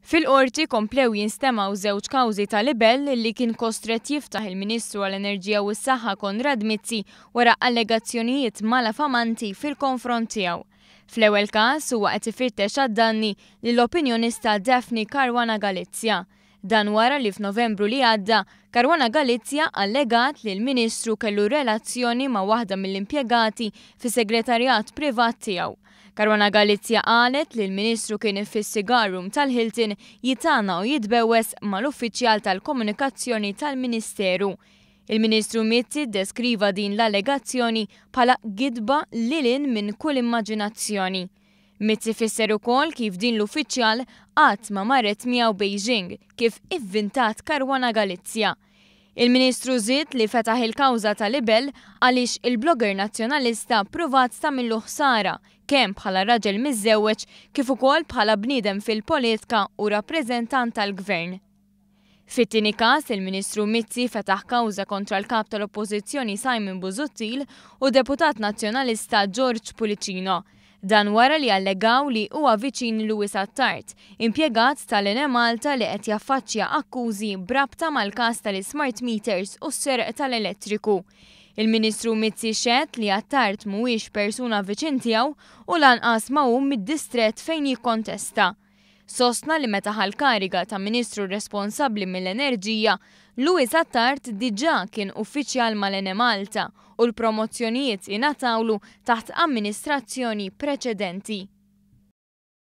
Fil-Qorti komplew jinstemgħu żewġ kawżi ta' libell li kien kostrett jiftaħ il-Ministru għall-Enerġija u s-Saħħa Konrad Mizzi wara allegazzjonijiet malafamanti fil-konfront tiegħu. Fl-ewwel każ huwa qed ifittex għad-danni lill-opinjonista Daphne Caruana Galizia. Dan wara li f'Novembru li għadda, Caruana Galizia allegat li l-Ministru kellu relazzjoni ma' waħda mill-impjegati fis-segretarjat privat tiegħu. Caruana Galizia qalet li l-Ministru kien fis-cigar room tal-Hilton jitgħanna u jitbewwes mal-uffiċjal tal-komunikazzjoni tal-Ministeru. Il-Ministru Mizzi ddeskriva din l-allegazzjoni bħala gidba lil hinn minn kull immaġinazzjoni. Mizzi fisser ukoll kif din l-uffiċjal qatt ma marret miegħu Beijing kif ivvintat Caruana Galizia. Il-Ministru żied li fetaħ il-kawża ta' libell għaliex il-blogger Nazzjonalista ppruvat tagħmillu ħsara kemm bħala raġel miżżewweġ kif ukoll bħala bniedem fil-politka u rappreżentant tal-Gvern. Fit-tieni każ, il-Ministru Mizzi fetaħ kawża kontra l-Kap tal-Oppożizzjoni Simon Busuttil u deputat Nazzjonalista George Pullicino. Dan wara li allegaw li huwa viċin Louis Attard, impjegat tal-Enemalta li qed jaffaċċja akkużi b'rabta mal-każ tal-ismart meters u s-serq tal-elettriku. Il-Ministru Mizzi xehed li Attard mhuwiex persuna viċin tiegħu u lanqas ma hu mid-distrett fejn jikkontesta. Sostna li meta ħa l-kariga ta' Ministru responsabbli mill-Enerġija, Louis Attard diġà kien uffiċjal mal-Enemalta u l-promozzjonijiet ingħatawlu taħt amministrazzjoni preċedenti.